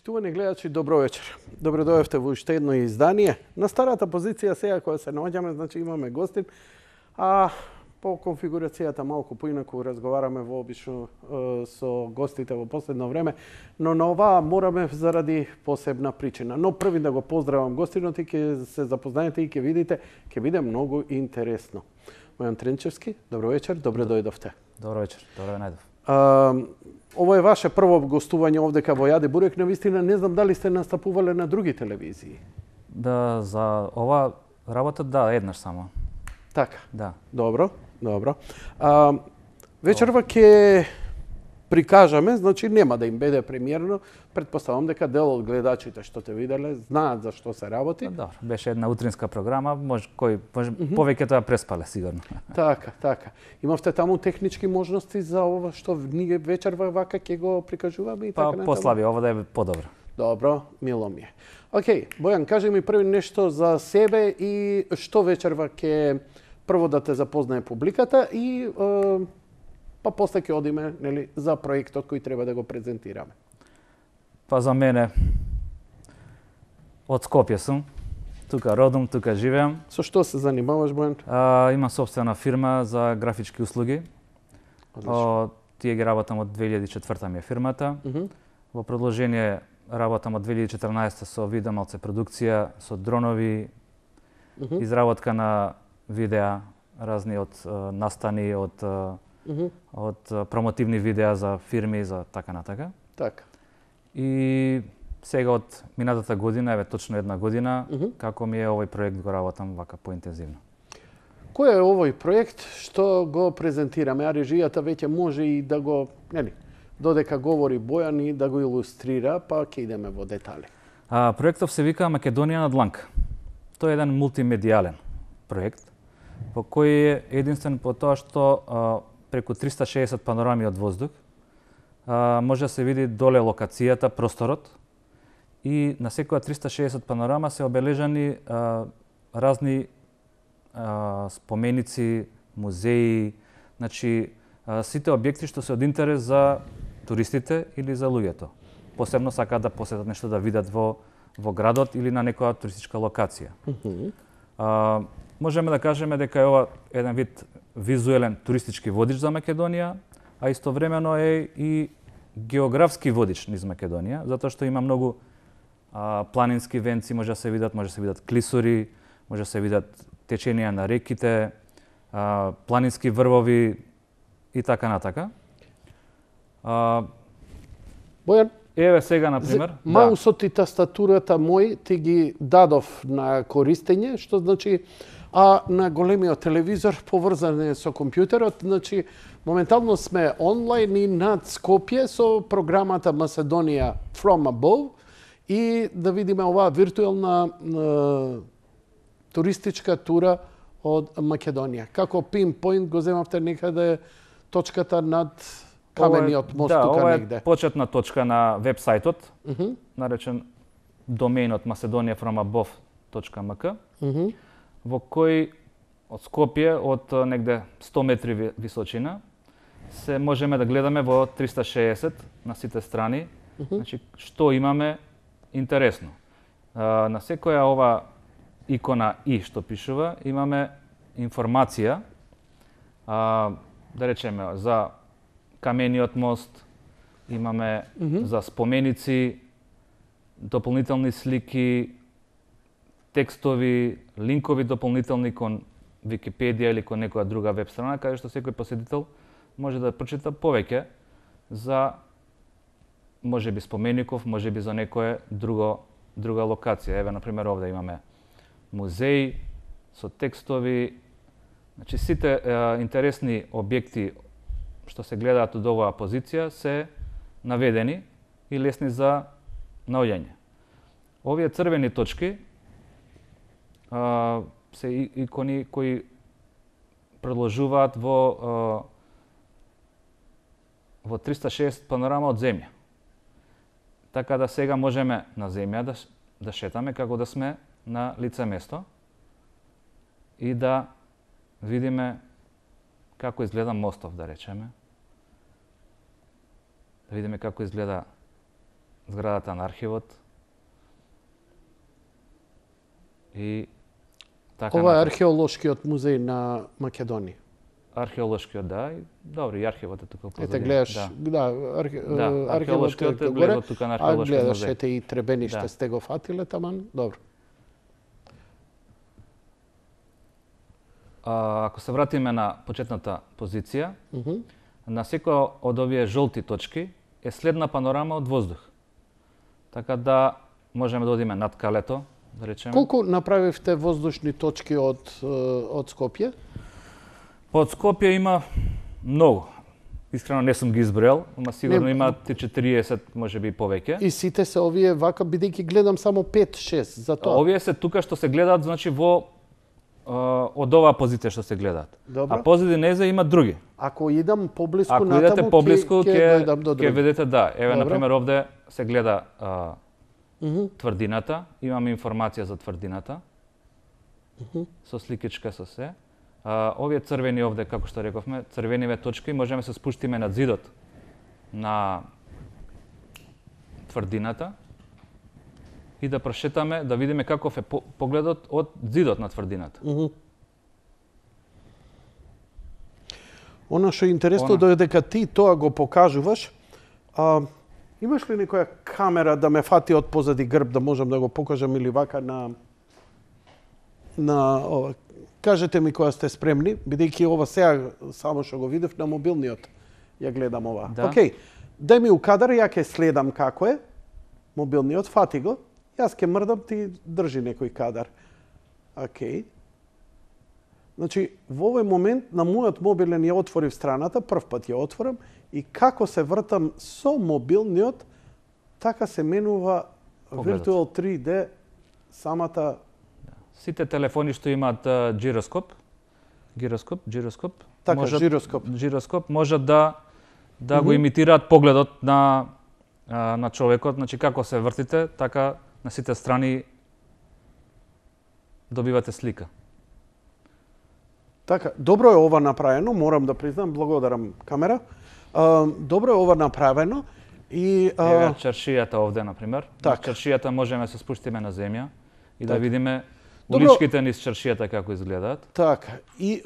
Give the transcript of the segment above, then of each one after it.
Почитувани гледачи, добро вечер. Добро дојавте во уште едно издание. На старата позиција сега кога се наоѓаме, значи имаме гостин, а по конфигурацијата малку поинаку разговараме вообично со гостите во последно време, но на оваа мораме заради посебна причина. Но први да го поздравам гостинот и ќе се запознаете и ќе видите, ќе биде многу интересно. Бојан Тренчевски, добро вечер, добро дојдовте. Добро вечер, добро ве најдов. Ово е ваше прво гостување овдека во Јаде Бурек, навистина не знам дали сте настапувале на други телевизии. Да, за ова работа да, еднаш само. Така. Да. Добро, добро. Вечерва ќе прикажаме, значи нема да им биде премиерно, претпоставам дека дел од гледачите што те виделе знаат за што се работи. Добро, беше една утринска програма, може повеќе тоа преспале сигурно. Така, така. Имавте таму технички можности за ова што ние вечерва вака ќе го прикажуваме и така натаму? Послаби, ова да е подобро. Добро, мило ми е. Океј, Бојан, кажи ми први нешто за себе и што вечерва ќе прво да те запознае публиката и па после ќе одиме, нели, за проектот кој треба да го презентираме. Па за мене од Скопје сум, тука родом, тука живеам. Со што се занимаваш, Бојан? Имам собствена фирма за графички услуги. Тие ги работам од 2004 ми е фирмата. Во продолжение работам од 2014 со видеомалце продукција, со дронови, изработка на видеа, разни од настани, од промотивни видеа за фирми, за така натака. Така. И сега од минатата година, еве точно една година, како ми е овој проект го работам вака поинтензивно. Кој е овој проект што го презентираме? А режијата веќе може и да го, нели, додека говори Бојан и да го илустрира, па ќе идеме во детали. Проектов се вика Македонија на дланка. Тој е еден мултимедијален проект, во кој е единствен по тоа што преку 360 панорами од воздух може да се види доле локацијата, просторот, и на секоја 360 панорама се обележани разни споменици, музеи, значи сите објекти што се од интерес за туристите или за луѓето. Посебно сакаат да посетат нешто да видат во градот или на некоја туристичка локација. Можеме да кажеме дека е ова еден вид визуелен туристички водич за Македонија, а истовремено е и географски водич низ Македонија, затоа што има многу планински венци, може да се видат клисури, може да се видат теченија на реките, планински врвови и така натака. Бојан, еве сега на пример, маусот и тастатурата мој ти ги дадов на користење, што значи на големиот телевизор поврзан со компјутерот, значи моментално сме онлайн и над Скопје со програмата Macedоnia from Above и да видиме оваа виртуелна туристичка тура од Македонија. Како пинпоинт го земавте некаде точката над камениот мост тука негде. Да, ова е почетна точка на вебсајтот, наречен домеинот macedoniafromabove.mk, во кој од Скопје, од негде 100 метри височина, се можеме да гледаме во 360 на сите страни, значи што имаме интересно. На секоја ова икона И што пишува, имаме информација, да речеме, за камениот мост, имаме за споменици, дополнителни слики, текстови, линкови дополнителни кон Википедија или кон некоја друга веб страна, каде што секој посетител може да прочита повеќе за можеби спомеников, можеби за некоја друга локација. Еве, например, овде имаме музеј со текстови, значи сите интересни објекти што се гледаат од оваа позиција се наведени и лесни за наоѓање. Овие црвени точки се икони кои продолжуваат во 360 панорама од земја. Така да сега можеме на земја да шетаме како да сме на лице место и да видиме како изгледа мостов, да речеме. Да видиме како изгледа зградата на архивот. И така Ова е натаму. археолошкиот музеј на Македонија. Археолошкиот, да, и добри, и архивот е тука позади. Ете гледаш, да, археолошкиот е горе, близо тука на а археолошкиот гледаш музеј. ете и требениште Да. сте го фатиле таман, добро. Ако се вратиме на почетната позиција, на секоја од овие жолти точки е следна панорама од воздух. Така да можеме да одиме над Калето, да речеме. Колку направивте воздушни точки од Скопје? Од Скопје има многу. Искрено не сум ги избројал, ама сигурно Не, има 40, можеби и повеќе. И сите се овие вака, бидејќи гледам само 5-6 за тоа. Овие се тука што се гледаат, значи во од оваа позиција што се гледаат. Добро. А позади незе има други. Ако идам поблиску Ако натаму, идете поблиску, ќе дојдам до ќе други. видите, да. Еве, Добро. например, овде се гледа тврдината. Имаме информација за тврдината. Со сликичка, со се. Овие црвени овде, како што рековме, црвениве точки, можеме се спуштиме над зидот на тврдината и да прошетаме, да видиме каков е погледот од зидот на тврдината. Она што е интересно додека ти тоа го покажуваш, имаш ли некоја камера да ме фати од позади грб да можам да го покажам или вака на ова? Кажете ми кога сте спремни, бидејќи ова сега само што го видев на мобилниот ја гледам ова. Да. Океј, дај ми у кадар, ја ќе следам како е. Мобилниот, фати го. Јас ќе мрдам, ти држи некој кадар. Океј. Значи, во овој момент на мојот мобилен ја отворив страната, прв пат ја отворам и како се вртам со мобилниот, така се менува Погледот. Virtual 3D самата. Сите телефони што имаат гироскоп, Така, можат, жироскоп. можат да го имитираат погледот на човекот, значи како се вртите, така на сите страни добивате слика. Така, добро е ова направено, морам да признам, благодарам камера. Добро е ова направено и Еве чаршијата овде, например. Така. На чаршијата можеме се спуштиме на земја и да Така. видиме Добро. уличките низ чаршијата како изгледаат. така, и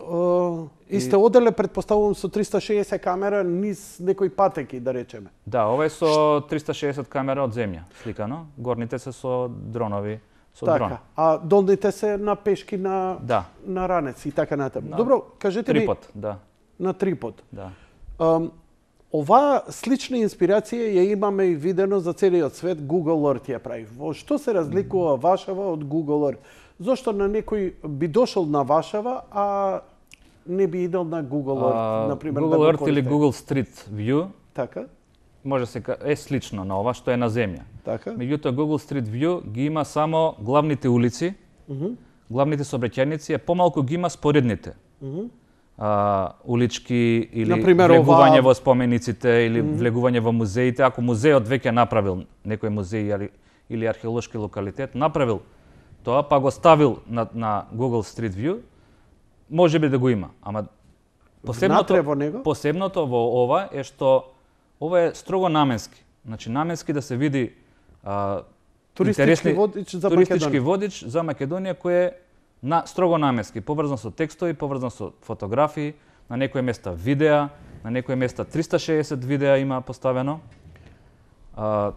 сте оделе, предпоставувам, со 360 камера низ некои патеки, да речеме. Да, ова е со 360 камера од земја сликано, горните се со дронови, со дрон. Така, а долните се на пешки на Да, на ранец и така натаму. Добро, кажете ми трипод, да, на трипод. да. Оваа слична инспирација ја имаме и видено за целиот свет, Google Earth ја прави. Во што се разликува Вашава од Google Earth? Зошто на некој би дошол на Вашава, а не би идел на Google Earth, например, Google да го Earth или користи? Google Street View Така, може се е слично на ова што е на земја. така. Меѓутоа Google Street View ги има само главните улици, главните сообраќајници, помалку ги има споредните. Улички или Например, влегување ова- во спомениците или влегување во музеите. Ако музеот веќе направил некој музеј или археолошки локалитет, направил тоа, па го ставил на Google Street View, може би да го има. Ама Внатре во него? посебното во ова е што ова е строго наменски. Значи наменски да се види Туристички интересни- водич за туристички Македонија. водич за Македонија кој е строго наменски, поврзан со текстови, поврзан со фотографии, на некои места видеа, на некои места 360 видеа има поставено. На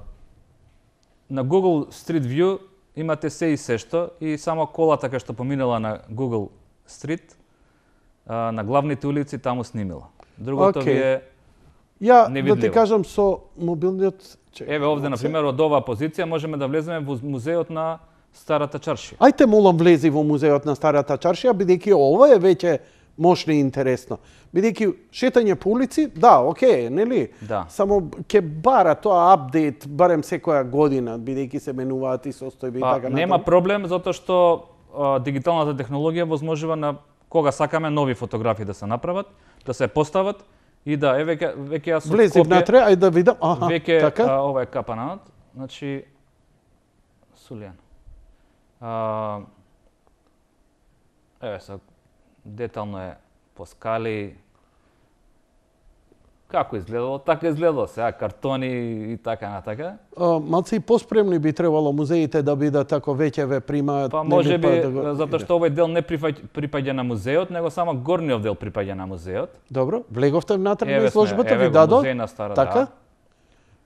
Google Street View имате се и се што и само колата кај што поминала на Google Street, на главните улици таму снимила. Другото Океј. ви е Ја да ти невидливо. кажам со мобилниот. еве овде на пример од оваа позиција можеме да влеземе во музеот на Старата чаршија. Ајте молам влези во музеот на Старата чаршија, бидејќи ова е веќе мощно и интересно. Бидејќи шетање по улици, да, окей, нели? Да. Само ќе бара тоа апдейт барем секоја година, бидејќи се менуваат и состојби и така Нема проблем затоа што дигиталната технологија возможува на кога сакаме нови фотографии да се направат, да се постават и да веќе јас од Влези Скопје, внатре, ајде да видам. Аха, веќе така. ова е капанат, значи Сулијан. Еве са детално е по скали. Како изгледало? Така изгледало сега, картони и така натака. Малце и поспремни би требало музеите да бидат тако веќе ве примаат. Па може би, затоа што овој дел не припаѓа на музеот, него само горниот дел припаѓа на музеот. Добро, влеговте внатре на Еве изложбата, ви еве дадо? музеј на Стара, Така? да.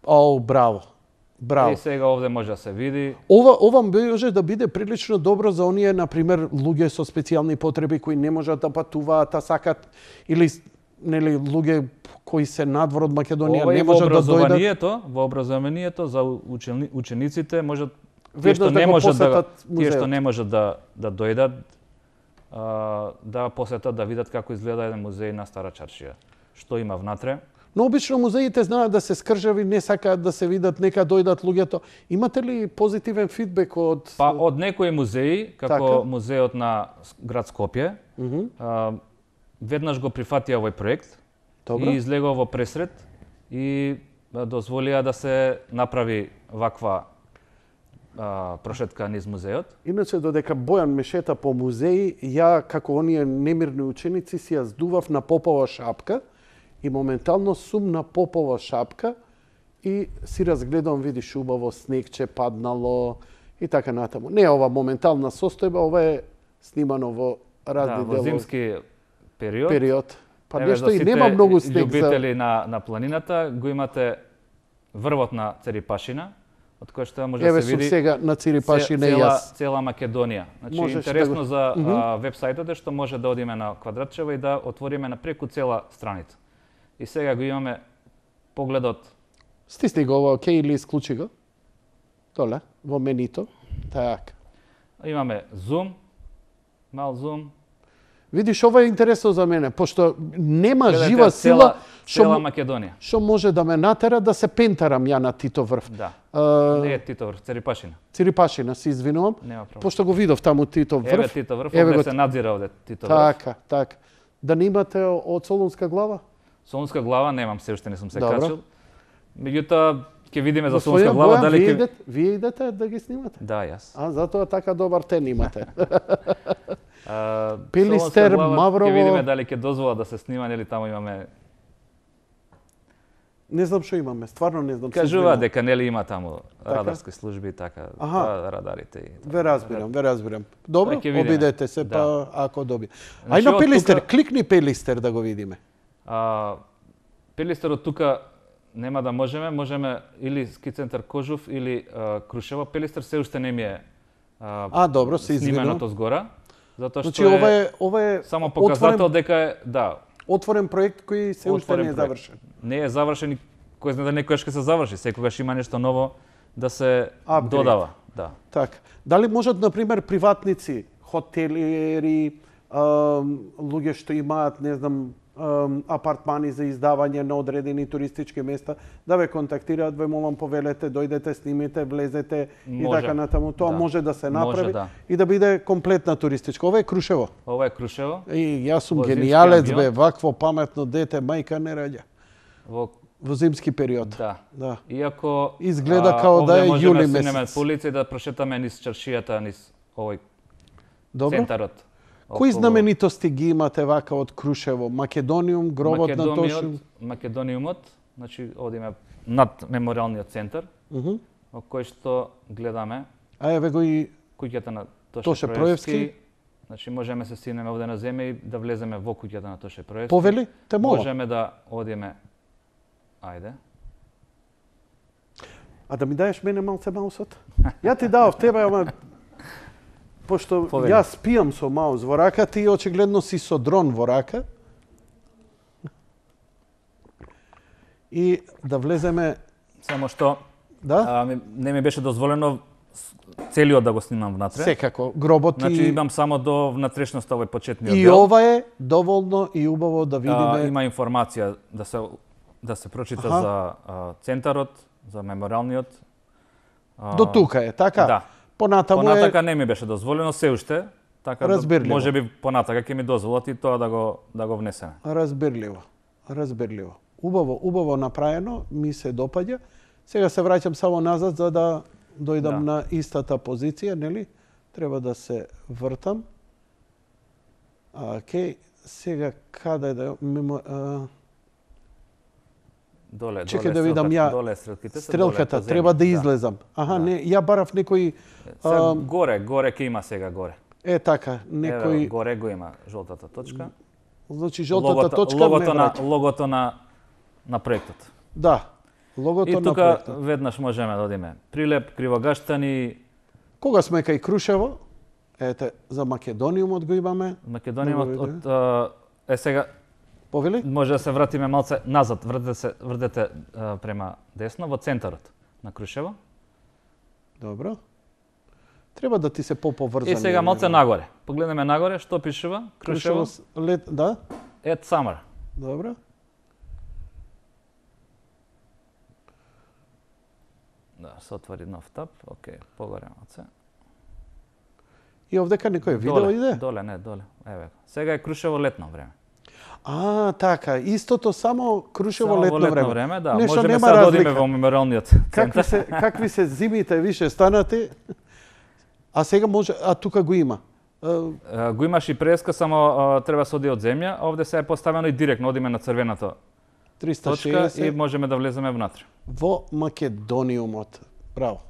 О, браво. Браво. И сега овде може да се види. Ова може да биде прилично добро за оние, например, луѓе со специјални потреби кои не можат да патуваат, а сакат, или нели луѓе кои се надвор од Македонија Ова не и во можат да дојдат. во образованието за учениците можат тие Веднаш што да не го можат посетат тие што музеот. не можат да дојдат да посетат да видат како изгледа еден музеј на Стара Чаршија. Што има внатре? Но обично музеите знаат да се скржави, не сакаат да се видат, нека дојдат луѓето. Имате ли позитивен фидбек од Па од некои музеи, како Така. музеот на град Скопје, веднаш го прифатија овој проект Добро. и излегува во пресред и дозволија да се направи ваква прошетка низ музеот. Иначе, додека Бојан ме шета по музеи, ја, како оние немирни ученици, си ја здував на попова шапка и моментално сум на попова шапка и си разгледам, видиш, убаво снегче паднало и така натаму. Не е ова моментална состојба, ова е снимано во разни Во зимски период. Па Еве, нешто за и сите нема многу снег за... љубители на планината, го имате врвот на Церипашина, од кој што може Еве да се сум види сега на Цирипашина и јас. цела Македонија. Значи Можеш интересно да го- за вебсајтот е што може да одиме на Квадратчева и да отвориме на преку цела страница. И сега го имаме погледот. Стисни го ова, окей, или исклучи го. Доле, во менито. Така. Имаме зум, мал зум. Видиш, ова е интересно за мене, пошто нема Гледате жива сила цела што Македонија. што може да ме натера да се пентарам ја на Тито врв. Да. А, Не е Тито врв, Церипашина. Цирипашина, се извинувам, Нема проблем. пошто го видов таму Тито врв. Еве Тито врв, Еве овде го- се надзира овде Тито врв. Така, така. Да не имате од Солунска глава? Солунска глава немам, се уште не сум се Добро. качил. Меѓутоа ќе видиме за Господин Солунска глава Бојан, дали ќе вие идете да ги снимате? Да, јас. А, затоа така добар тен имате. Солунска Пилистер, глава, Маврово. Ќе видиме дали ќе дозвола да се снима, нели таму имаме. Не знам што имаме, стварно не знам. се Кажува извинувам. дека нели има таму Така? радарски служби, така, Аха. радарите и така. Ве разбирам, ве разбирам. Добро, Па ќе видиме. обидете се, Да. па ако доби. Значи, Ај на од Пилистер, тука- кликни Пилистер да го видиме. Пелистерот тука нема да можеме или ски центар Кожув или Крушево. Пелистер се уште не ми е Добро, се извинувам. снименото згора, затоа што Значи ова е само показател дека е, да, отворен проект кој се уште не е проект. завршен. Не е завршен и кој знае да некојаш ќе се заврши, секогаш има нешто ново да се Апгрейд. додава, да. Така. Дали можат, например, приватници, хотелери, луѓе што имаат, не знам, апартмани за издавање на одредени туристички места, да ве контактираат, ве молам повелете, дојдете, снимите, влезете и Може. така натаму. Тоа Да. може да се направи Може, да. и да биде комплетна туристичка. Ова е Крушево. Ова е Крушево, И јас сум Во зимски генијалец, бе, амбиент. вакво паметно дете, мајка не раѓа. Во зимски период. да. Да. Иако Изгледа као да овде е можеме јули да снемеме месец. по улица и да прошетаме низ чаршијата, низ овој Добро. центарот. Кои околу знаменитости ги имате вака од Крушево? Македониум, гробот на Тошиум? Македониумот, значи овде има над мемориалниот центар, Мгм. во кој што гледаме А еве го и куќата на Тоше Тоше Проевски. Проевски. Значи можеме се стигнеме овде на земја и да влеземе во куќата на Тоше Проевски. повели, те молам. Можеме да одиме. Ајде. А да ми даеш мене малце маусот? Ја ти давав тебе, ама пошто Повели. јас спијам со маус во рака, ти очигледно си со дрон во рака. И да влеземе, Само што да? не ми беше дозволено целиот да го снимам внатре. Секако, гробот Значи и... имам само до внатрешноста овој почетниот И дел. ова е доволно и убаво да видиме. Има информација да се прочита Аха. за центарот, за мемориалниот. До тука е, така? Да. Понатаму Понатака не ми беше дозволено се уште, така Разбирливо. може би понатака ќе ми дозволат и тоа да го внесеме. Разбирливо. Разбирливо. Убаво направено, ми се допаѓа. Сега се враќам само назад за да дојдам Да. на истата позиција, нели? Треба да се вртам. Океј, сега каде да Доле, Чекај да видам ја. Доле стрелките се. Стрелката треба да излезам. Аха, не, ја барав некој Горе ќе има сега горе. така, некој Горе го има жолтата точка. Значи жолтата точка Логото на проектот. Да. Логото И на тука проектот. веднаш можеме да одиме. Прилеп, Кривогаштани, Кога сме кај Крушево, ете за Македониумот го имаме. Македонија сега Повели? може да се вратиме малце назад, вртете према десно во центарот на Крушево. Добро. Треба да ти се поврзани. И сега малце нагоре. Погледнеме нагоре, што пишува? Крушево, лет, да? at summer. Добро. Да, се отвори нов таб. Океј, погоре малце. И овдека некој видео иде? Доле, не, доле. Еве. Сега е Крушево летно време. Така, истото само Крушево Само летно во летно време. да. Нешто Можеме нема сега да одиме разлика. во мемориалниот центар. Какви се зимите више станати? А сега може, тука го има. Го имаш и преска, само треба се оди од земја, а овде се е поставено и директно одиме на црвената точка 360 и можеме да влеземе внатре. во Македониумот. Браво.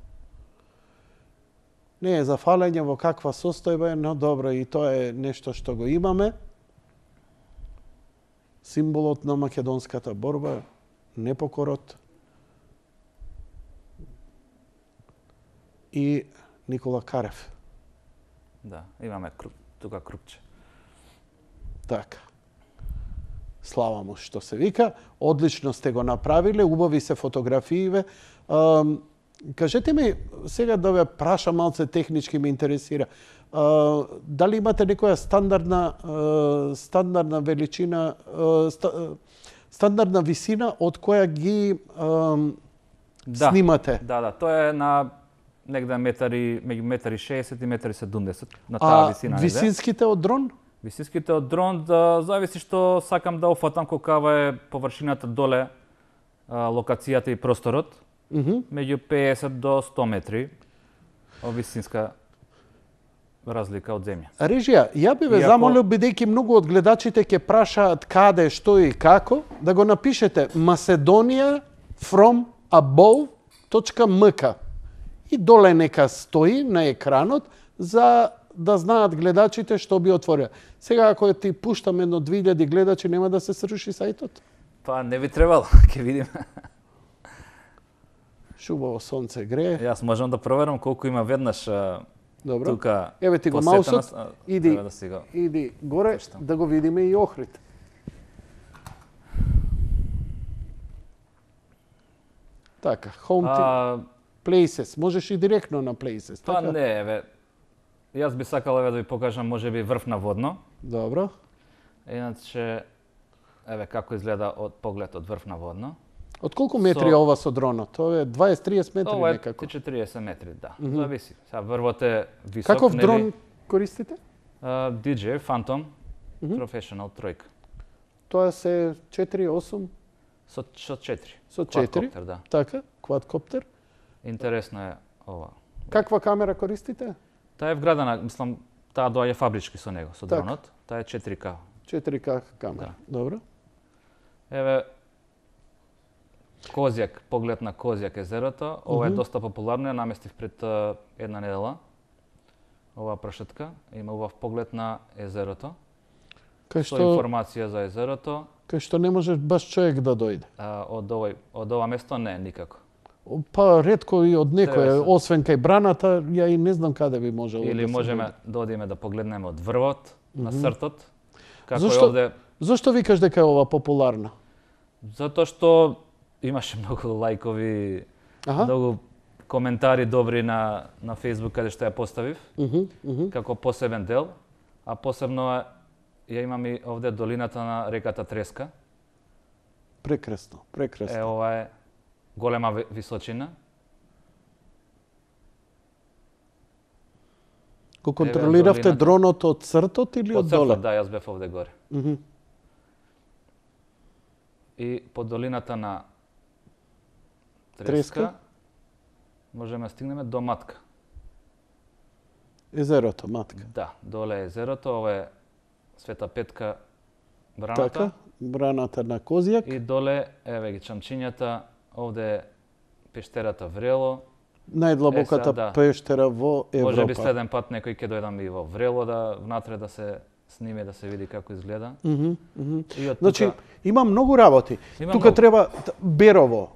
Не е за фалење во каква состојба е, но добро, и тоа е нешто што го имаме. Символот на македонската борба, непокорот. И Никола Карев. Да, имаме тука крупче. Така. Слава му што се вика. Одлично сте го направиле, убави се фотографииве. Кажете ми, сега да ве прашам малце технички ме интересира. Дали имате некоја стандардна величина, стандардна висина од која ги снимате? Да, тоа е на негде меѓу 1,60 и 1,70 на таа висина. А висинските од дрон? Висинските од дрон зависи што сакам да офатам колкава е површината доле, локацијата и просторот. Меѓу 50 до 100 метри висинска разлика од земја. Режија, ја би ве замолил, бидејќи многу од гледачите ќе прашаат каде, што и како, да го напишете Macedonia from above.mk и доле нека стои на екранот за да знаат гледачите што би отворија. Сега ако ти пуштам 1-2000 гледачи, нема да се сруши сајтот? Па не би требало, ќе видиме. Шубаво сонце грее. Јас можам да проверам колку има веднаш Добро. тука. Еве ти го маусот, иди, да си го иди горе да го видиме и Охрид. Така, home places. Можеш и директно на places, Па така? не, еве. Јас би сакал да ви покажам можеби врв на водно. Добро. Иначе еве како изгледа од поглед од врв на водно. Од колку метри е ова со дронот? Тоа е 20-30 метри Ова е некако. 40 метри, да. Зависи. Сега врвот е висок, Каков нели? дрон користите? DJI Phantom Professional тројка. Тоа се 4-8 Со 4. со 4. Quadcopter, да. Така, квадкоптер. Интересно е ова. Каква камера користите? Таа е вградена, мислам, таа доаѓа фабрички со него, со Така. дронот. Таа е 4K. 4К камера. Добро. Еве Козјак, поглед на Козјак езерото. Ова е доста популарно, ја наместив пред една недела. Оваа прашетка има убав поглед на езерото. Кај Со што информација за езерото. кај што не можеш баш човек да дојде. Од ова место не, никако. Па ретко и од некој, Треба се. освен кај браната, ја и не знам каде би можело Или да се можеме дојде. да одиме да погледнеме од врвот, на сртот. Како Зошто- е овде, Зошто викаш дека е ова популарна? затоа што имаше многу лајкови, Аха. многу коментари добри на Facebook каде што ја поставив, како посебен дел, а посебно ја имам и овде долината на реката Треска. Прекрасно, прекрасно. Ова е голема височина. Го контролиравте долината. дронот од цртот или од Од доле? цртот, да, јас бев овде горе. И по долината на Треска можеме да стигнеме до Матка. Езерото, матка. Да, доле е езерото, ова е Света Петка браната. Така, браната на Козјак. И доле, еве ги чамчињата, овде е пештерата Врело. Најдлабоката да. пештера во Европа. Може би следен пат некој ќе дојдам и во Врело да внатре да се сниме, да се види како изгледа. И од Значи, тука... има многу работи. Има Тука многу. треба Берово,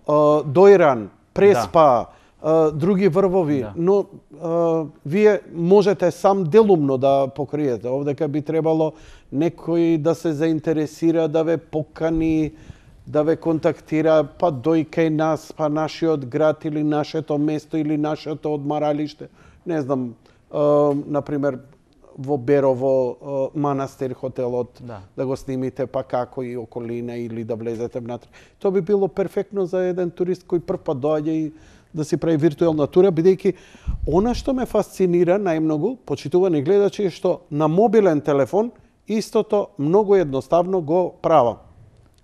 Дојран, Преспа, други врвови, Да. но вие можете сам делумно да покриете. Овдека би требало некој да се заинтересира, да ве покани, да ве контактира, па дој кај нас, па нашиот град или нашето место или нашето одмаралиште. Не знам, например, во Берово манастир хотелот, да го снимите, па како и околина или да влезете внатре. Тоа би било перфектно за еден турист кој прв пат доаѓа и да си прави виртуелна тура, бидејќи она што ме фасцинира најмногу, почитувани гледачи, е што на мобилен телефон истото многу едноставно го правам.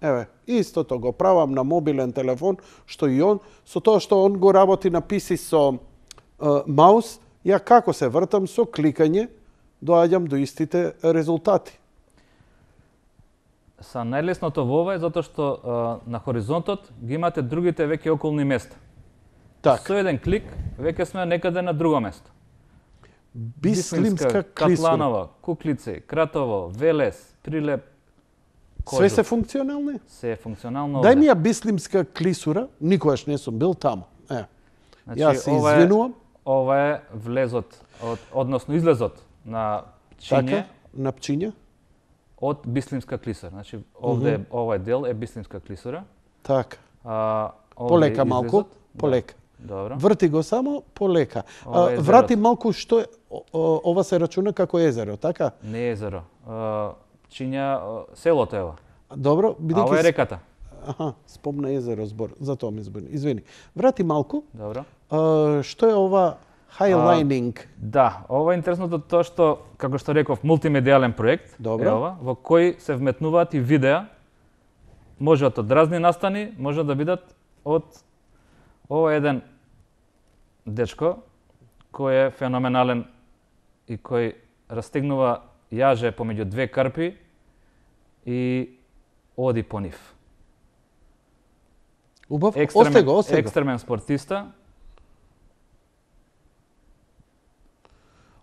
Еве, истото го правам на мобилен телефон, што и он, со тоа што он го работи на PC со маус, ја како се вртам со кликање, доаѓам до истите резултати. Са најлесното во ова е затоа што на хоризонтот ги имате другите веќе околни места. Так. Со еден клик веќе сме некаде на друго место. Бислимска клисура. Катланова, Куклици, Кратово, Велес, Прилеп, Кожух. Све се функционални? Се е функционално. Дај ми ја Бислимска клисура, никогаш не сум бил таму. Значи, Јас се извинувам. Ова е влезот, односно излезот на Пчиње. Така, на Пчиње. Од Бислимска клисура. Значи, овде овој дел е Бислимска клисура. Така. Овде Полека е малку, излезот. полека. Добро. Врти го само полека. Ова е Врати езерото. малку што е, ова се рачуна како езеро, така? Не е езеро. Пчиња, селото е ова. Добро, А ова е реката. Аха, спомна езеро збор, затоа ми збуни. Извини. Врати малку. Добро. Што е ова highlining? Да, ова е интересното тоа што, како што реков, мултимедијален проект Добро. е ова, во кој се вметнуваат и видеа, можат од разни настани, може да бидат од ова еден дечко кој е феноменален и кој растегнува јаже помеѓу две карпи и оди по нив. Убав, осте го. Екстремен спортиста.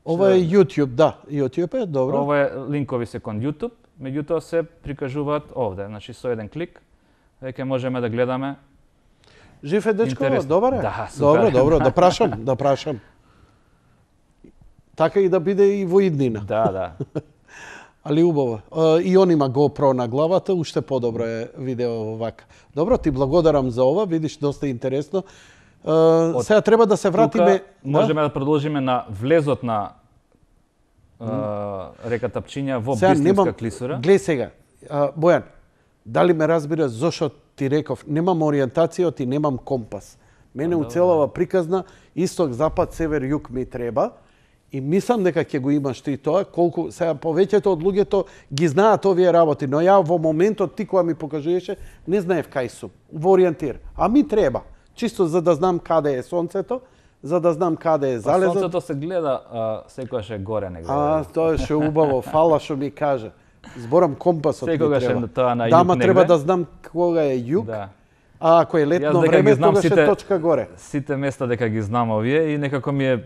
Ова е YouTube, да. YouTube е, добро. Ова е линкови се кон YouTube, меѓутоа се прикажуваат овде. Значи со еден клик веќе можеме да гледаме. Жив е дечко, Интересно. добар е? Да, супер. Добро, да прашам. Така и да биде и во иднина. Да. Али убаво. И он има GoPro на главата, уште подобро е видео вака. Добро, ти благодарам за ова, видиш, доста интересно. Сега треба да се вратиме... Тука можеме да продолжиме на влезот на реката Пчиња во Бислимска клисура. Глеј сега, Бојан, дали ме разбира зошто ти реков, немам ориентација, и немам компас. Мене уцелава приказна, исток, запад, север, југ ми треба. И мислам дека ќе го имаш ти тоа, колку сега повеќето од луѓето ги знаат овие работи, но ја во моментот ти кога ми покажуваше, не знаев кај сум, во ориентир. А ми треба, чисто за да знам каде е сонцето, за да знам каде е залезот. Сонцето се гледа секогаш е горе негде. Тоа е ше убаво, фала што ми кажа. Зборам компасот ми Секогаш е треба. тоа на југ Дама треба негде. да знам кога е југ, Да. а ако е летно време, тогаш е точка горе. Сите места дека ги знам овие и некако ми е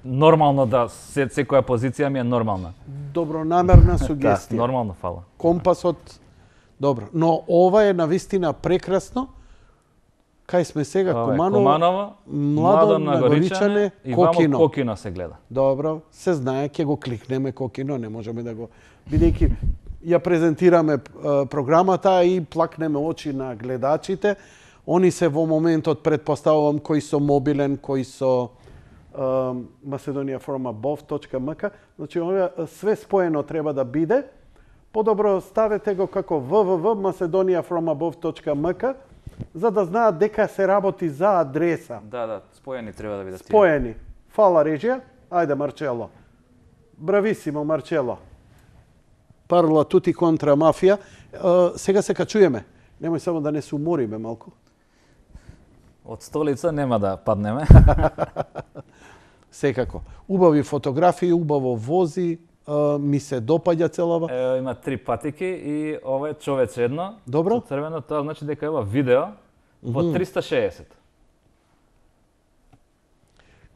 нормално да секоја позиција ми е нормална. Добронамерна сугестија. Да, нормално, фала. Компасот, добро. Но ова е навистина прекрасно. Кај сме сега? Куманово, Младо Нагоричане, и Кокино. вамо Кокино се гледа. Добро, се знае, ќе го кликнеме Кокино, не можеме да го... Бидејќи ја презентираме програмата и плакнеме очи на гледачите. Они се во моментот, предпоставувам, кои со мобилен, кои со macedoniafromabove.mk. Значи, све споено треба да биде. Подобро ставете го како www.macedoniafromabove.mk за да знаат дека се работи за адреса. Да, споени треба да бидат. Споени. Фала, режија. Ајде, Марчело. Брависимо, Марчело. Парла тути контра мафија. Сега се качуеме. Немој само да не се умориме малку. Од столица нема да паднеме. Секако. Убави фотографии, убаво вози, ми се допаѓа целава. Ево има 3 патики и ова е човече едно. Добро. Со црвено, тоа значи дека ова видео во 360.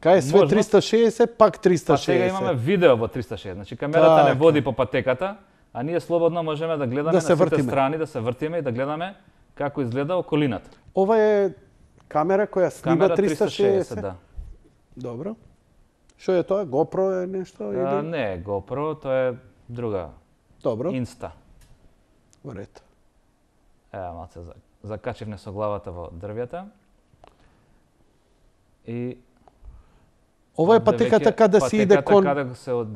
Кај е све Можно. 360, пак 360. Па сега имаме видео во 360. Значи камерата не Така. води по патеката, а ние слободно можеме да гледаме Да на се сите вртиме. страни, да се вртиме и да гледаме како изгледа околината. Ова е камера која снима Камера 360. да. Добро. Што е тоа? GoPro е нешто? Или? Не е GoPro, тоа е друга. Добро, Insta. во ред. Ева, малце закачивме со главата во дрвјата. И Ова е патеката каде се иде кон... Патеката каде се од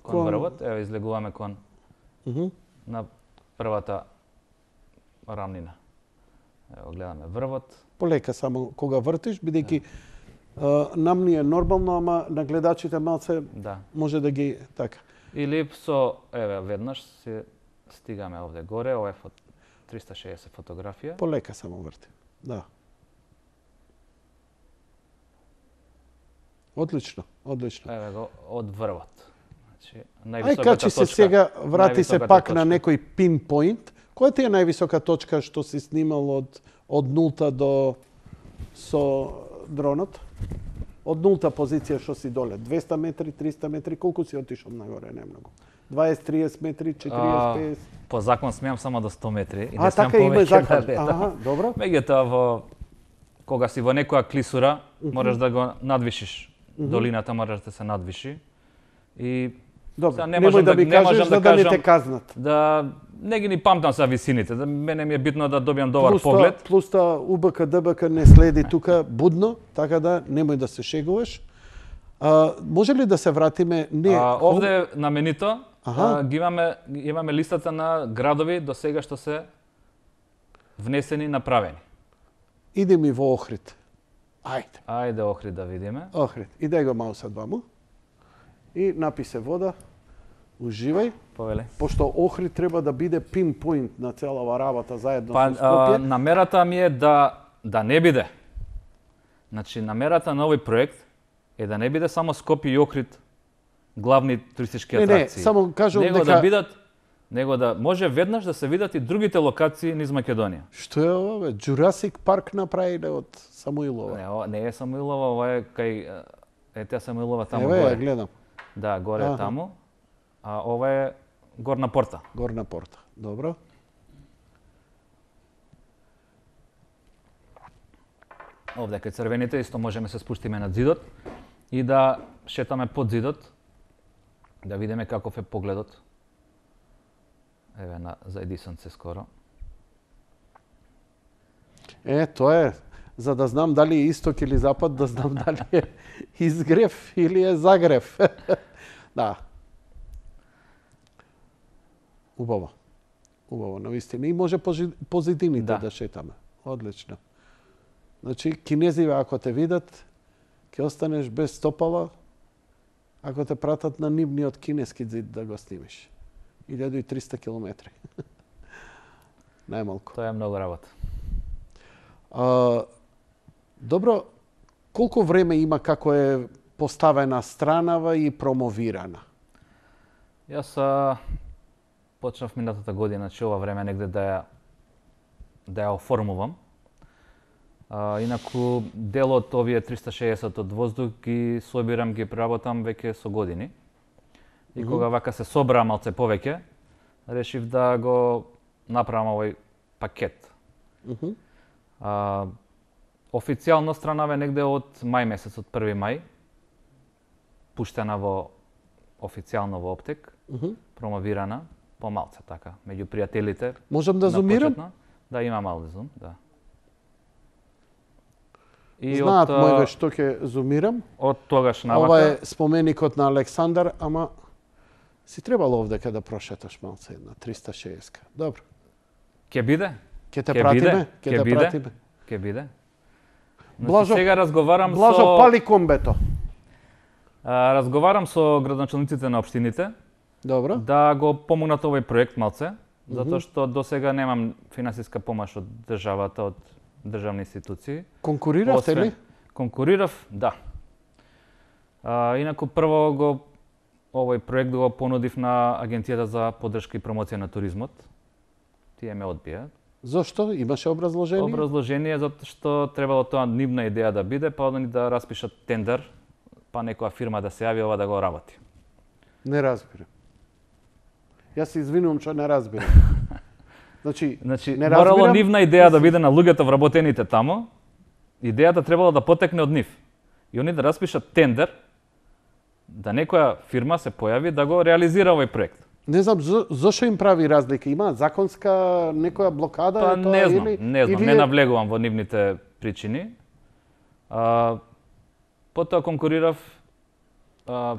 кон- врвот. Ева, излегуваме кон Мгм. на првата рамнина. Ево, гледаме врвот. Полека само кога вртиш, бидејќи нам ни е нормално, ама на гледачите малце Да. може да ги така. Или со, еве, веднаш се стигаме овде горе, ова е 360 фотографија. Полека само врти. Да. Одлично, одлично. Еве го од врвот. Значи, Ај највисоката качи се точка. сега, врати се највисоката пак на точка. некој пинпоинт. Која ти е највисока точка што си снимал од нулта до со дронот? Од нулта позиција што си доле? 200 метри, 300 метри, колку си отишол нагоре, не многу. 20-30 метри, 40-50. По закон смеам само до 100 метри и не А, смеам така има повеќе закон. да летам. Аха, добро. Меѓутоа во кога си во некоја клисура, можеш да го надвишиш. Долината можеш да се надвиши. И Добро. Сега не Немој можам да да- ми не кажеш можам за да да не кажам- те казнат. да не ги ни памтам за висините. Да мене ми е битно да добијам добар Плюс тоа- поглед. Плюс тоа УБК ДБК не следи тука будно, така да немој да се шегуваш. Може ли да се вратиме? Не. Овде наменито Аха. ги имаме листата на градови до сега што се внесени, направени. Иди ми во Охрид. Ајде. Ајде Охрид да видиме. Охрид. Иде го маусот ваму. И напи се вода. Уживај. Повеле. Пошто Охрид треба да биде пинпоинт на целава работа заедно Па со Скопје. намерата ми е да не биде. Значи намерата на овој проект е да не биде само Скопје и Охрид главни туристички Не, атракции. само кажувам него дека... да бидат него да може веднаш да се видат и другите локации низ Македонија. Што е ова, бе? Jurassic Парк направиле од Самуилова. Не, ова не е Самуилова, ова е кај таа Самуилова таму Еве, ја горе. гледам. Да, горе Аха. таму. А ова е Горна порта. Горна порта. Добро. Овде кај црвените исто можеме се спуштиме над зидот и да шетаме под зидот, да видиме каков е погледот. Еве заеди сонце скоро. Тоа е. За да знам дали е исток или запад, да знам дали е изгрев или е загрев. Да. Убаво. Убаво, навистина. И може по зидините Да. да шетаме. Одлично. Значи, кинезиве ако те видат, ќе останеш без стопала, ако те пратат на нивниот кинески зид да го снимиш. 1300 километри. Најмалку. Тоа е многу работа. Добро, колку време има како е поставена странава и промовирана? Јас почнав минатата година, че ова време негде да ја оформувам. Инаку дел од овие 360 од воздух ги собирам, ги преработам веќе со години. И кога вака се собра малце повеќе, решив да го направам овој пакет. Официјално странава негде од мај месец, од 1 мај, пуштена во официјално во Оптек, промовирана, помалце така, меѓу пријателите. Можам да на зумирам? почетно. Да, има мал зум, да. И Знаат мојве што ќе зумирам. од тогаш навака, Ова е споменикот на Александар, ама си требало овдека да прошеташ малце една 360. Добро. ќе биде, Ќе те Ќе пратиме, биде, ќе ќе те биде. пратиме. ќе биде. Блажо- Сега разговарам Блажо, пали комбето. разговарам со градоначалниците на општините Добро. да го помогнат овој проект малце, затоа што до сега немам финансиска помош од државата, од државни институции. Конкуриравте ли? Конкурирав, да. Инаку прво го овој проект го понудив на Агенцијата за поддршка и промоција на туризмот. Тие ме одбија. Зошто? Имаше образложение? Образложение затоа што требало тоа нивна идеја да биде, па они да распишат тендер, па некоја фирма да се јави ова да го работи. Не разбирам. Јас се извинувам што не разбирам. Значи не морало разбирам. нивна идеја да биде на луѓето вработените тамо. Идејата требало да потекне од нив. И они да распишат тендер, да некоја фирма се појави да го реализира овој проект. Не знам зошто им прави разлика. Има законска некоја блокада? Па е тоа, не знам, или не навлегувам во нивните причини. Потоа конкурирав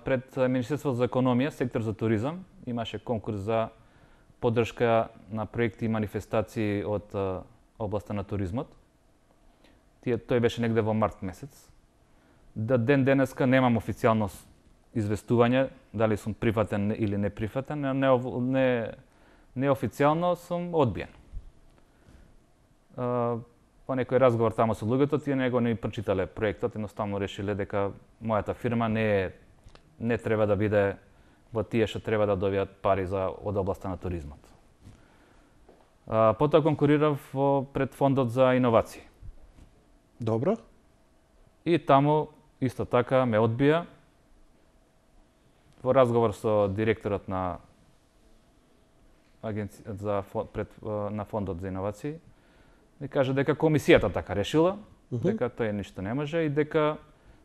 пред Министерството за економија, сектор за туризам. Имаше конкурс за поддршка на проекти и манифестации од областа на туризмот. Тој беше негде во март месец. Ден денеска немам официјално известување дали сум прифатен или не прифатен, неофицијално сум одбиен. По некој разговор тамо со луѓето, тие него не прочитале проектот, едноставно решиле дека мојата фирма не треба да биде во тие што треба да добијат пари од областа на туризмот. Потоа конкурирав пред Фондот за иновации. Добро. И таму исто така ме одбија. Во разговор со директорот на на Фондот за иновации, ми кажа дека комисијата така решила, дека тој ништо не може и дека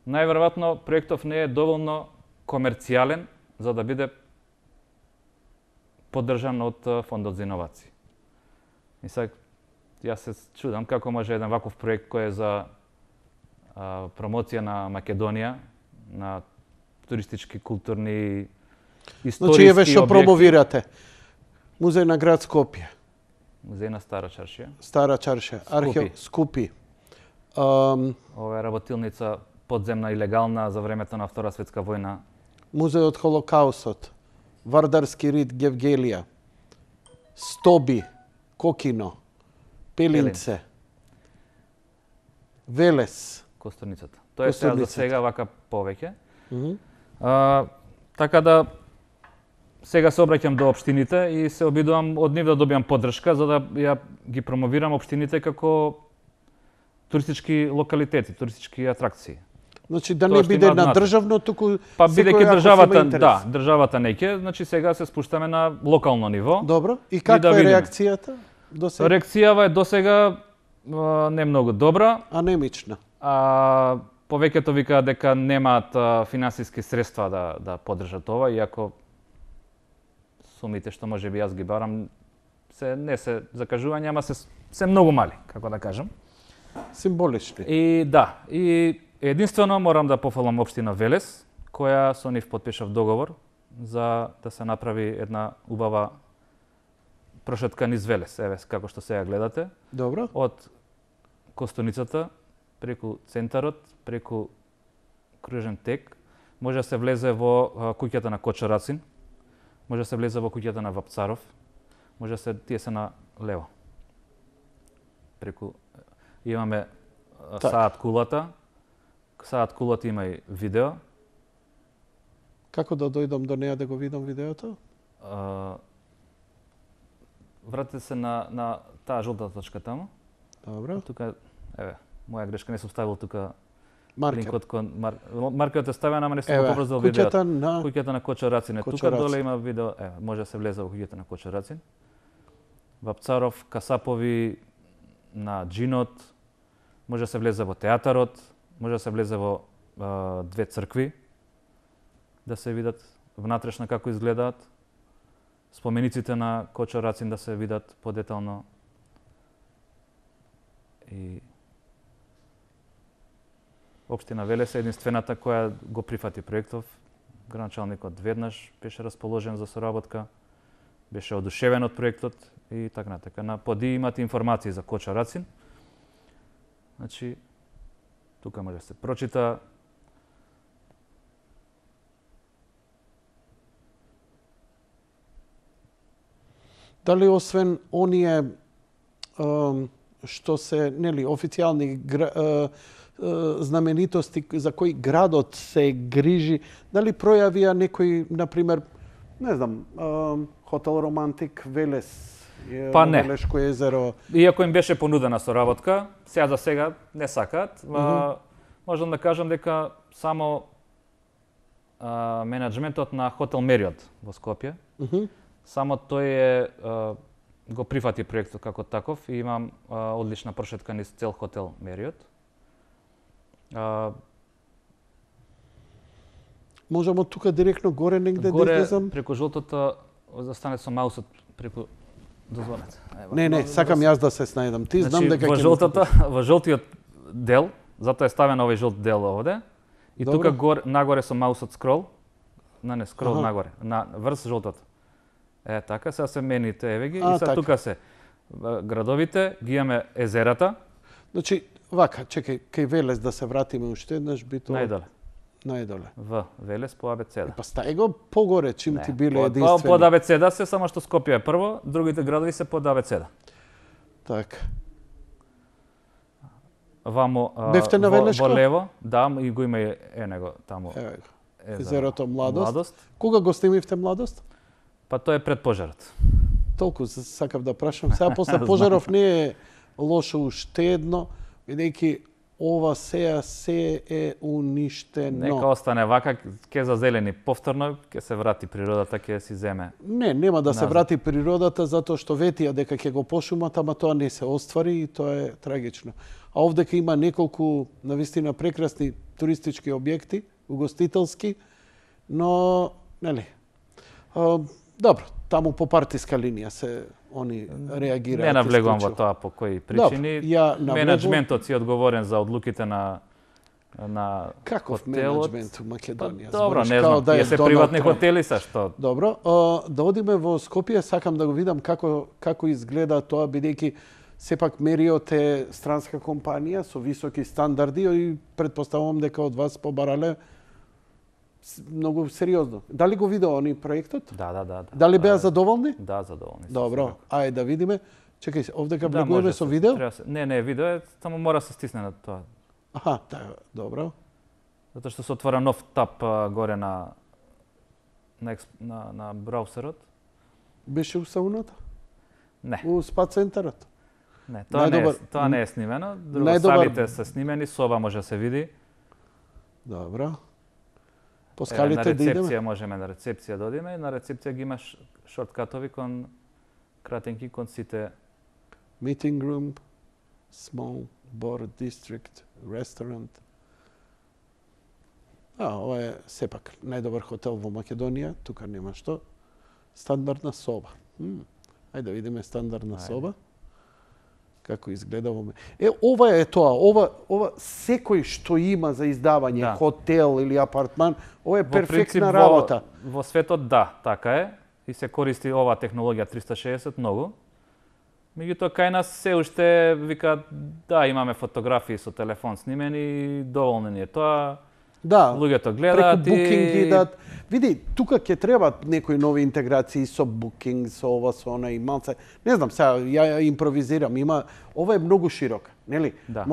најверојатно проектов не е доволно комерцијален за да биде поддржан од Фондот за иновации. И сега јас се чудам како може еден ваков проект кој е за промоција на Македонија, на туристички, културни, историски Значи, еве што објекти. промовирате. Музеј на град Скопје. Музеј на Стара Чаршија. Стара Чаршија. Архео Скупи. Ова е работилница подземна и легална за времето на Втора светска војна. Музејот Холокаустот. Вардарски рид Гевгелија. Стоби. Кокино. Пелинце. Велес. Костурницата. Тоа е сега за сега вака повеќе. Мгм. Така да сега се обраќам до општините и се обидувам од нив да добиам поддршка за да ја ги промовирам општините како туристички локалитети, туристички атракции. Значи да Тоа не што биде има на значење. државно, туку Па секој бидејќи ако државата, има интерес. да, државата не ќе, значи сега се спуштаме на локално ниво. Добро. И каква да е видиме. реакцијата до сега? Реакцијава е досега не многу добра. Анемична. Повеќето викаат дека немаат финансиски средства да поддржат ова, иако сумите што можеби јас ги барам не се закажување, ама се многу мали, како да кажам. Символични. И да, и единствено морам да пофалам општина Велес, која со нив потпишав договор за да се направи една убава прошетка низ Велес, еве како што сега гледате. Добро. Од Костуницата, преку центарот, преку кружен тек, може да се влезе во куќата на Кочо Рацин, може да се влезе во куќата на Вапцаров, може да се тие се на лево. Преку имаме Саат кулата. Саат кулата има и видео. Како да дојдам до неа да го видам видеото? Вратете се на таа жолта точка таму. Добро. Тука, еве, моја грешка, не сум ставил тука Маркер. линкот кон маркерот е ставен, ама не сум Еве, го поврзал видеото. куќата Куќата на Кочо Рацин е Кочо тука, Рацин. доле има видео, еве, може да се влезе во куќата на Кочо Рацин. Вапцаров, Касапови, на Джинот, може да се влезе во театарот, може да се влезе во две цркви, да се видат внатрешно како изгледаат, спомениците на Кочо Рацин да се видат подетално. И општина Велес е единствената која го прифати проектов. Граначалникот веднаш беше расположен за соработка, беше одушевен од проектот и така натака. На поди имате информации за Кочо Рацин. Значи, тука може да се прочита. Дали освен оние што се, нели, официјални знаменитости за кои градот се грижи, дали пројавија некој, например, не знам, Хотел Романтик, Велес, Па не. Велешко езеро. Иако им беше понудена соработка, сега за сега не сакаат. Можам да кажам дека само менеджментот на Хотел Мериот во Скопје, само тој го прифати проектот како таков и имам одлична прошетка низ цел Хотел Мериот. Можеме тука директно горе негде Горе, да излезам? преку жолтото, застане со маусот преку... Дозволете. Не, сакам јас да се снајдам. Ти знам дека во жолтото, во жолтиот дел, затоа е ставен овој жолт дел овде, и тука нагоре со маусот скрол, не скрол нагоре, на врз жолтото. Така, сега се мените, еве ги, и сега тука се градовите, ги имаме езерата. Значи, вака, чекај, кај Велес да се вратиме уште еднаш, би тоа... Најдоле. В Велес по абецеда. Па стај го погоре, чим ти биле единствени. Под абецеда се, само што Скопје е прво, другите градови се под абецеда. Така. Вамо, бевте на Велешко? Во лево, да, и го има него таму. Езерото Младост. Кога го снимивте Младост? Па тоа е пред пожарот. Толку сакав да прашам. Сега после пожаров не е лошо уште едно, бидејќи ова се е уништено. Нека остане вака, ќе зазелени повторно, ќе се врати природата, ќе си земе. Не, нема да се врати природата, затоа што ветија дека ќе го пошумат, ама тоа не се оствари и тоа е трагично. А овдека има неколку навистина прекрасни туристички објекти, угостителски, но, нели, добро, таму по партиска линија се они реагираат. Не навлегувам во тоа по кои причини. Менеджментот си одговорен за одлуките на каков хотелот. менеджмент у Македонија? Добро, не знам, тие се приватни хотели се што. Добро, да одиме во Скопје, сакам да го видам како изгледа тоа, бидејќи сепак Мериот е странска компанија со високи стандарди и претпоставувам дека од вас побарале многу сериозно. Дали го видеа они проектот? Да. Дали беа задоволни? Да, задоволни. Добро, ајде да видиме. Чекај, овдека влегуваме со видео? Не, видео е, само мора се стисне на тоа. Аха, добро. Затоа што се отвора нов таб горе на браузерот. Беше у сауната? Не. У спа центарот? Не, тоа не е снимено. Салите се снимени, соба може да се види. Добро. По скалите да идеме? На рецепција можеме на рецепција да одиме, и на рецепција ги имаш шорткатови кон кратенки кон сите. Meeting room, small board district, restaurant. Ова е сепак најдобар хотел во Македонија, тука нема што. Стандардна соба. Ајде да видиме стандардна соба. Како изгледа во ова е тоа, ова секој што има за издавање, хотел или апартман, ова е перфектна работа. Во светот така е, и се користи оваа технологија 360 многу. Меѓутоа кај нас се уште викаат имаме фотографии со телефон снимени и доволно ни е тоа. Да, луѓето гледаат преку Booking идат. Види, тука ќе требаат некои нови интеграции со Booking, со ова, со она и малце. Не знам, сега ја импровизирам, ова е многу широка, нели? Да.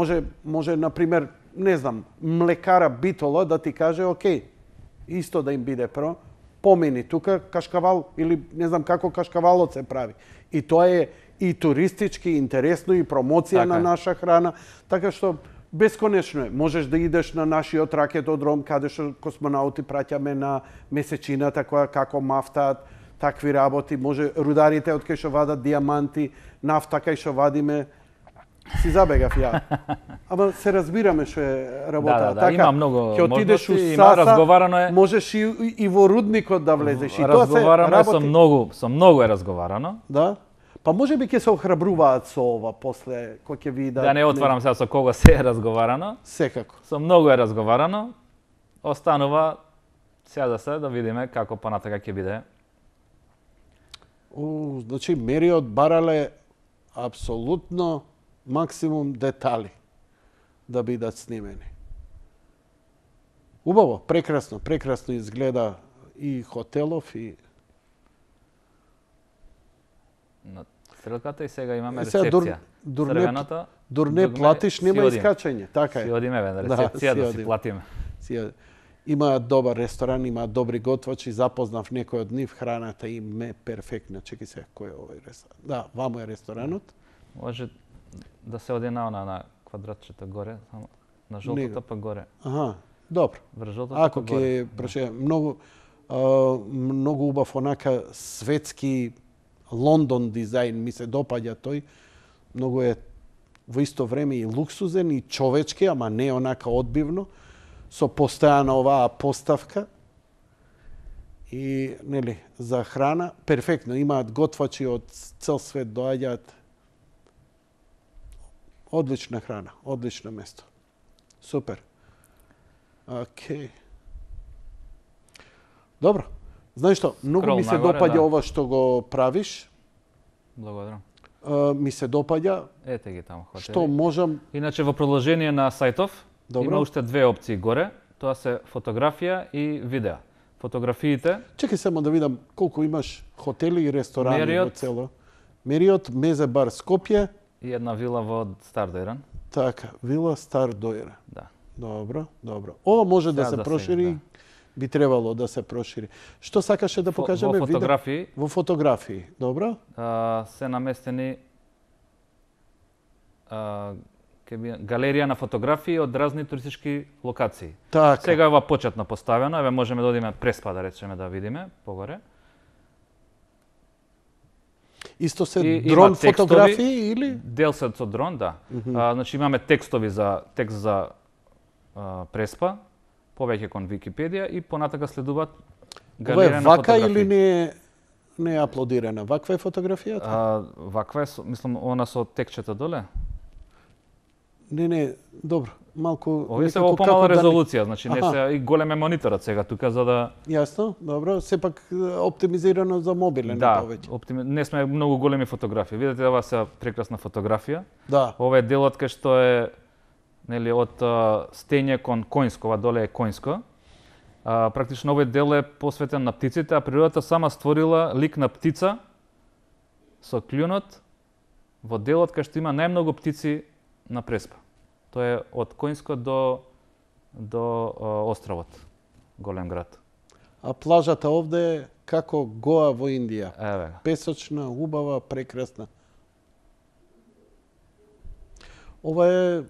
Може например, не знам, млекара Битола да ти каже, окей, исто да им биде помени тука кашкавал или не знам како кашкавалот се прави. И тоа е и туристички интересно и промоција на наша храна, така што бесконечно е. Можеш да идеш на нашиот ракетодром, каде што космонаути праќаме на месечината, како мафтаат, такви работи. Може рударите од кај што вадат диаманти, нафта кај што вадиме. Си забегав ја. Ама се разбираме што е работа. Да, има многу можности, има разговарано е. Можеш и во рудникот да влезеш. И разговарано е со многу е разговарано. Да. Па може би ќе се охрабруваат со ова после кој ќе видат. Да не отварам сега со кого се е разговарано. Секако. Со многу е разговарано. Останува сега да видиме како понатака ќе биде. Значи Мериот барале апсолутно максимум детали да бидат снимени. Убаво, прекрасно изгледа и хотелов и стрелката и сега имаме Сега рецепција. дур не платиш, нема искачање. Така е. Си одиме на рецепција да си платиме. Има добар ресторан, има добри готвачи, запознав некој од нив, храната им е перфектна. Чекај се, кој е овој ресторан? Да, вамо е ресторанот. Може да се оди на квадратчето горе, само на жолтото па горе. Аха, добро. Врз жолтото Ако па горе. ќе многу убав онака светски Лондон дизајн, ми се допаѓа тој. Многу е во исто време и луксузен и човечки, ама не онака одбивно, со постојана оваа поставка. И нели за храна перфектно, имаат готвачи од цел свет доаѓаат. Одлична храна, одлично место. Супер. Океј. Добро. Знаеш што, многу ми се допаѓа ова што го правиш. Благодарам. Ми се допаѓа. Ете ги таму хотели. Што можам... Иначе во продолжение на сајтов има уште две опции горе. Тоа се фотографија и видео. Фотографиите... Чекај само да видам колку имаш хотели и ресторани во цело. Мериот, Мезебар, Скопје. И една вила во Стар Дојран. Така, вила Стар Дојран. Да. Добро, добро. Ова може да се прошири, би требало да се прошири. Што сакаше да покажеме? Во фотографии. Во фотографии, добро. Се наместени галерија на фотографии од разни туристички локации. Така. Сега е ова почетно поставено, еве можеме да одиме Преспа да речеме да видиме погоре. Исто се дрон фотографии или? Дел се со дрон, да. Значи имаме текстови за текст за Преспа, повеќе кон Википедија и понатака следуваат галерија на фотографии. Ова е вака или не е аплодирана? Ваква е фотографијата? Ваква е, мислам, она со текчета доле. Не, добро. Малку овие се во помала резолуција, значи не се и голем е мониторот сега тука за да... Јасно, добро. Сепак оптимизирано за мобилен повеќе. Не сме многу големи фотографии. Видете, ова се прекрасна фотографија. Да. Ова е делот кај што е нели од стење кон Коњско, ова доле е Коњско. Практично овој дел е посветен на птиците, а природата сама створила лик на птица со клјунот во делот кај што има најмногу птици на Преспа. Тоа е од Коњско до островот, голем град. А плажата овде е како Гоа во Индија. Еве. Песочна, убава, прекрасна. Ова е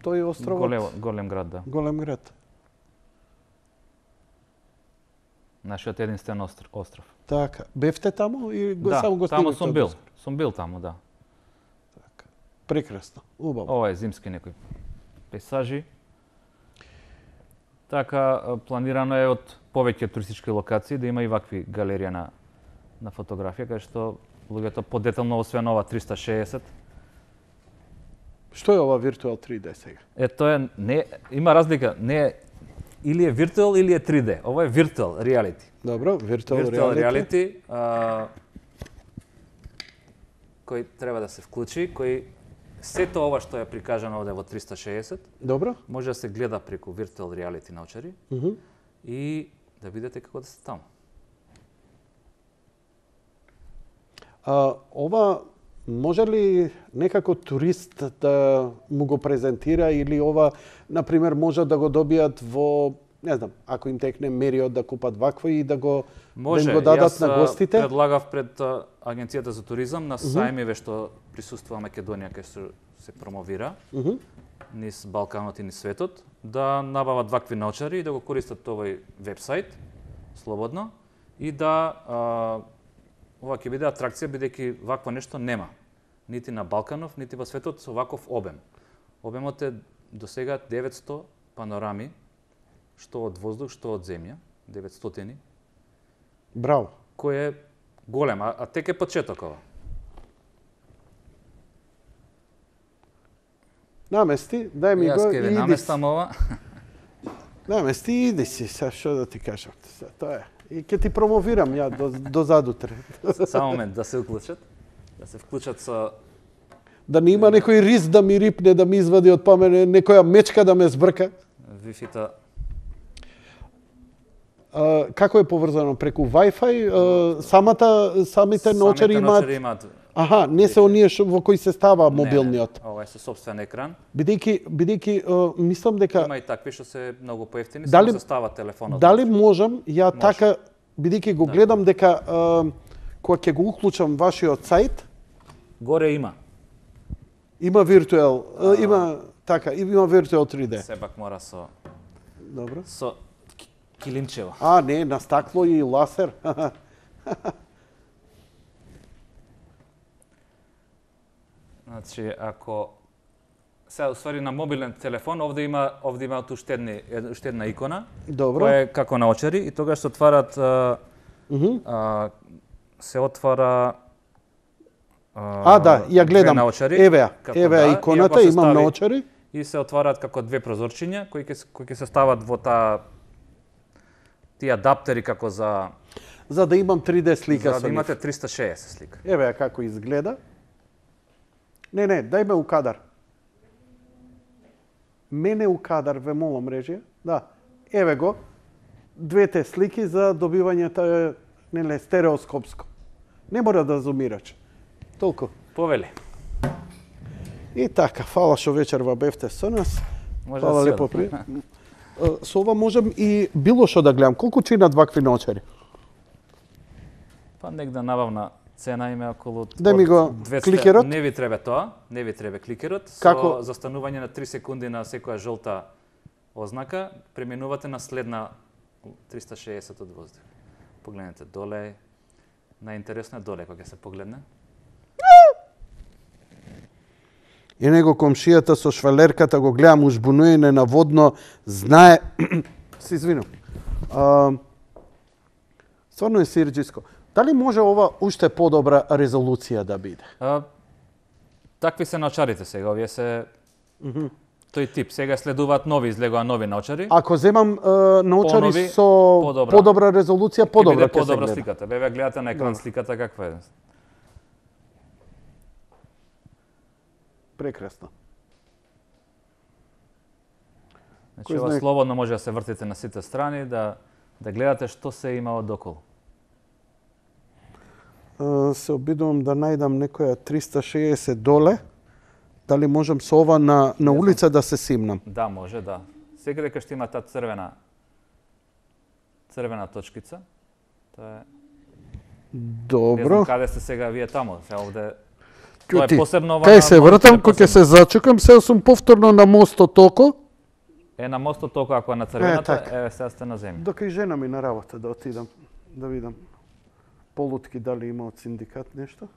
тој островот. Голем град, да. Голем град. Нашиот единствен остров. Така. Бевте таму и само го таму сум бил. Сум бил таму, да. Така. Прекрасно. Убаво. Ова е зимски некои пейзажи. Така, планирано е од повеќе туристички локации да има и вакви галерија на фотографија, кај што луѓето подетално освен ова 360. Што е ова Virtual 3D сега? Тоа е, не, има разлика, не е или е Virtual или е 3D. Ова е Virtual Reality. Добро, Virtual Reality, кој треба да се вклучи, кој сето ова што е прикажано овде во 360, добро, може да се гледа преку Virtual Reality научари и да видите како да се таму. Ова може ли некако турист да му го презентира или ова, например, може да го добијат во, не знам, ако им текне Мериот да купат вакво и да го дадат на гостите? Може, предлагав пред Агенцијата за туризам на сајмиве што присуствува Македонија кај што се промовира низ Балканот и низ светот, да набават вакви научари и да го користат овој вебсайт слободно и да ова ќе биде атракција бидејќи вакво нешто нема нити на Балканов, нити во светот со ваков обем. Обемот е до сега 900 панорами, што од воздух, што од земја, 900. Браво. Кој е голем, а тек е почеток ова. Намести, дај ми го и иди. Јас ке наместам ова. Намести и иди си, са што да ти кажам. Тоа е. И ќе ти промовирам ја до задутре. Само момент, да се уклучат. Да се вклучат со... Да не има некој рис да ми рипне, да ми извади од памет, некоја мечка да ме збрка. Wi-Fi-та... Како е поврзано? Преку Wi-Fi? Самите научари имаат Аха, не се оние во кои се става мобилниот. Ова е со сопствен екран. Бидејќи мислам дека Има и такви што се многу поевтини, Дали- само се става телефонот. дали можам ја така, бидејќи го гледам дека кога ќе го уклучам вашиот сајт, Горе има. има виртуел, има така, има виртуел 3D. Сепак мора со Добро. килимчево. Не, на стакло и ласер. Значи, ако сега уствари на мобилен телефон, овде има уште една икона, Добро. која е како наочари и тогаш се отварат се отвара Да, ја гледам. две наочари, Еве како ја и иконата, ако се имам стави- наочари. и се отварат како две прозорчиња кои ќе се стават во тие адаптери како за За да имам 3D слика да со нив. имате 360 слика. Еве ја како изгледа. Не, дај ме у кадар. Мене у кадар, ве молам, режија. Да. Еве го. Двете слики за добивањето стереоскопско. Не мора да зумираш. Толку. Повели. И така, фала што вечерва бевте со нас. Може Фала да си лепо одам. Со ова можам и било што да гледам. Колку чинат вакви наочари? Па негде набавна цена има околу Дај ми го 200. кликерот. Не ви треба тоа, не ви треба кликерот. Како? Со застанување на 3 секунди на секоја жолта ознака, преминувате на следна 360 од воздух. Погледнете доле. Најинтересно е доле кога ќе се погледне. И него комшијата со швалерката го гледам ужбунуене на водно, знае... Се извинам. Стварно е сирџиско. Дали може ова уште подобра резолуција да биде? Такви се наочарите сега, овие се тој тип. Сега следуваат нови, излегува нови наочари. Ако земам наочари Понови, со подобра. подобра резолуција, подобра ќе се подобра гледа. сликата. Бе гледате на екран Добро. сликата каква е. Прекрасно. Значи, Кој ова знае- слободно може да се вртите на сите страни, да гледате што се има одоколу. Се обидувам да најдам некоја 360 доле. Дали можам со ова на улица да се симнам? Да, може, да. Сега дека што има таа црвена точкица. Тоа е. Не Добро. знам каде сте сега вие таму. Сега овде тоа Ќути, е посебно ова. кај на се моите вртам, е кога ќе посебно. се зачекам, се сум повторно на мостот токо. Е на мостот толку ако е на црвената, така. сега сте на земја. Дока и жена ми на работа да отидам, да видам полутки дали има од синдикат нешто.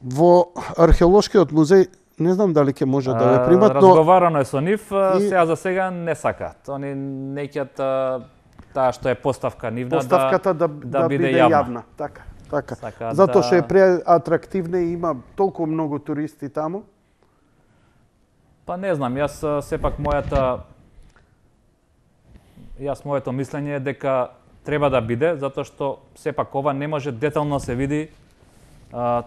Во археолошкиот музеј, не знам дали ќе може да ве примат, но Разговарано е со нив, И- сега за сега не сакаат. Они неќат таа што е поставка нивна поставката да биде јавна. Така. Сакаат Затоа што е да- преатрактивна и има толку многу туристи таму. Па не знам, сепак моето мислење е дека треба да биде, затоа што сепак ова не може детално се види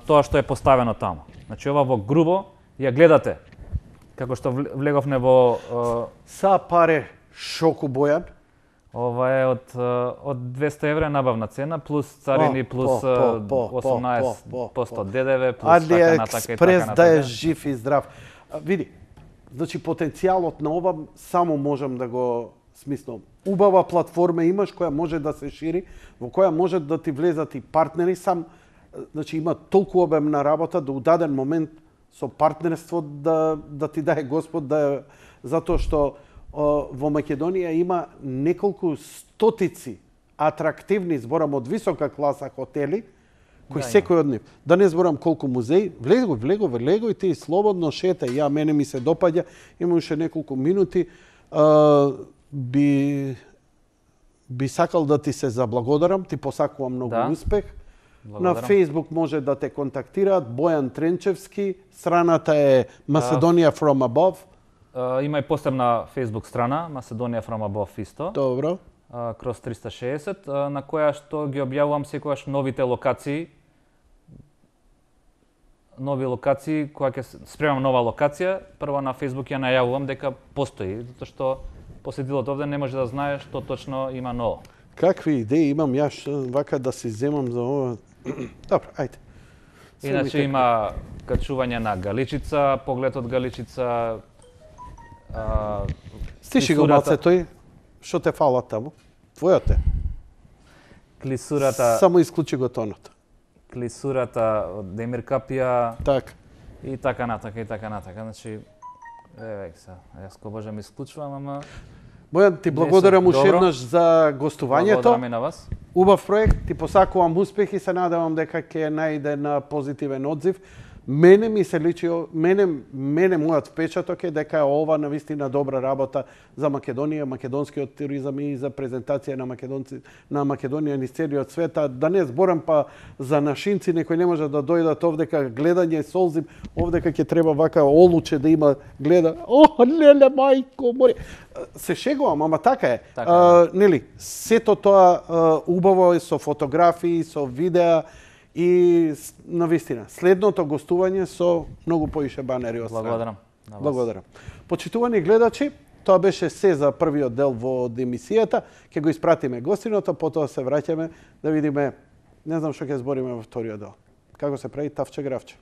тоа што е поставено таму. Значи ова во грубо ја гледате, како што влеговме во Са паре шоку бојан. ова е од 200 евра набавна цена, плюс царини, плюс 18% ДДВ, плюс така натака и Експрес така да е натака. жив и здрав. Види, значи потенцијалот на ова само можам да го смислам. Убава платформа имаш која може да се шири, во која може да ти влезат и партнери, значи има толку обемна работа да у даден момент со партнерство да ти даде Господ затоа што во Македонија има неколку стотици атрактивни, зборам од висока класа хотели, кои секој од нив. Да не зборам колку музеи, влегој ти слободно шетај. Мене ми се допаѓа, има уште неколку минути. Би сакал да ти се заблагодарам, ти посакувам многу успех. Благодарам. На Facebook може да те контактираат Бојан Тренчевски, страната е Macedоnia from Above. Има и посебна Facebook страна, Macedоnia from Above исто. Добро. Кроз 360, на која што ги објавувам секогаш новите локации. Кога ќе спремам нова локација, прво на Facebook ја најавувам дека постои, затоа што посетителот овде не може да знае што точно има ново. Какви идеи имам јас вака да си земам за ова? Добро, ајде. Иначе има качување на Галичица, поглед од Галичица. Стиши го малце тој, што те фала таму? Твојот е. Клисурата. Само исклучи го тонот. Клисурата од Демир Капија. Така. И така натака, и така натака. Значи, јас ко Боже ми исклучувам, ама... Бојан, ти благодарам уште еднаш за гостувањето. Благодарам и на вас. Убав проект, ти посакувам успех и се надевам дека ќе најде на позитивен одзив. Мене ми се личи, мене мојот впечаток е дека ова навистина добра работа за Македонија, македонскиот туризам и за презентација на Македонија низ целиот свет. Да не зборам па за нашинци, некој не може да дојдат овдека гледање солзим, овдека ќе треба вака олуче да има гледа. Леле мајко, море. Се шегувам, ама така е. Нели, сето тоа убаво е со фотографии, со видеа. И навистина, следното гостување со многу поише банери од страна. Благодарам. Почитувани гледачи, тоа беше се за првиот дел во емисијата. Ќе го испратиме гостиното, потоа се враќаме да видиме, не знам што ќе збориме во вториот дел. Како се прави тавче гравче.